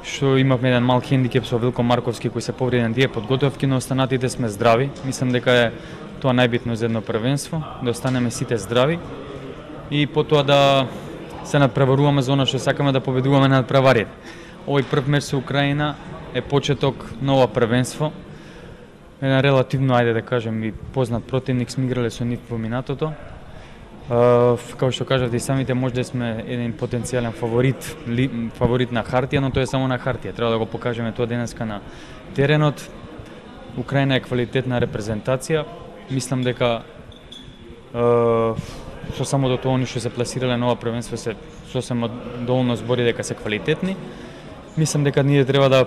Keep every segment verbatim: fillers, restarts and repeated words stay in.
што имавме еден мал хендикеп со Вилко Марковски кој се повреди на тие подготовки, но останатите сме здрави. Мислам дека е тоа најбитно за едно првенство, да останеме сите здрави и потоа да се надпреваруваме за она што сакаме да победуваме над преварите. Овој прв меч со Украина е почеток на ова првенство. Еден релативно, ајде да кажем, и познат противник сме играле со нив во минатото. Uh, како што кажавте и самите, може да сме еден потенцијален фаворит, ли, фаворит на хартија, но тоа е само на хартија. Треба да го покажеме тоа денеска на теренот. Украина е квалитетна репрезентација. Мислам дека uh, со само до тоа они што се пласирале на ова првенство се сосема доволно збори дека се квалитетни. Мислам дека ние треба да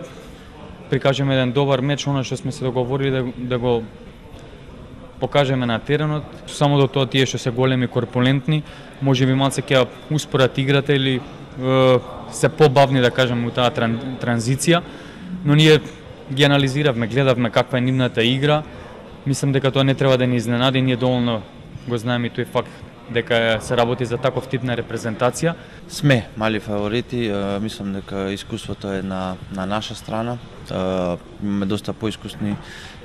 прикажеме еден добар меч, она што сме се договорили да, да го покажеме на теренот. Само до тоа тие што се големи, корпулентни, може би малце ќе успорат играта или е, се побавни, да кажеме, у таа тран, транзиција, но ние ги анализиравме, гледавме каква е нивната игра. Мислам дека тоа не треба да ни изненади, ние доволно го знаеме и тој факт дека се работи за таков тип на репрезентација. Сме мали фаворити, мислам дека искуството е на, на наша страна. Имаме доста поискусни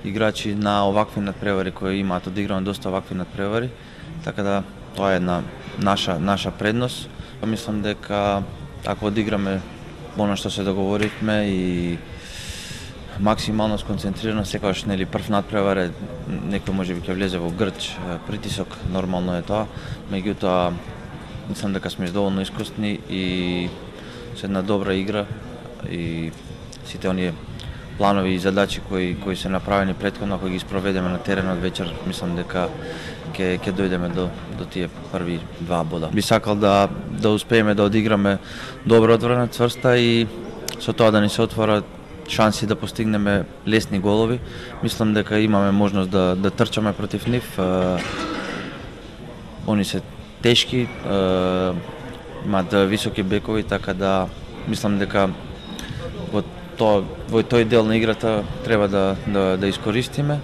играчи на овакви надпревари кои имаат одиграно доста овакви надпревари, така да тоа е една наша наша предност. Мислам дека ако одиграме она што се договоривме и максимално сконцентрирано, секогаш нели прв надпревар е некој можеби ќе влезе во грч притисок, нормално е тоа, меѓутоа мислам дека сме доволно искусни и со една добра игра и сите оние планови и задачи кои кои се направени претходно, ако ги спроведеме на теренот вечер, мислам дека ќе ќе дојдеме до до тие први два бода. Би сакал да да успееме да одиграме добро одбрана, цврста и со тоа да ни се отворат шанси да постигнеме лесни голови. Мислам дека имаме можност да да трчаме против нив. Они се тешки, имаат високи бекови, така да мислам дека во тоа во тој дел на играта треба да да, да искористиме.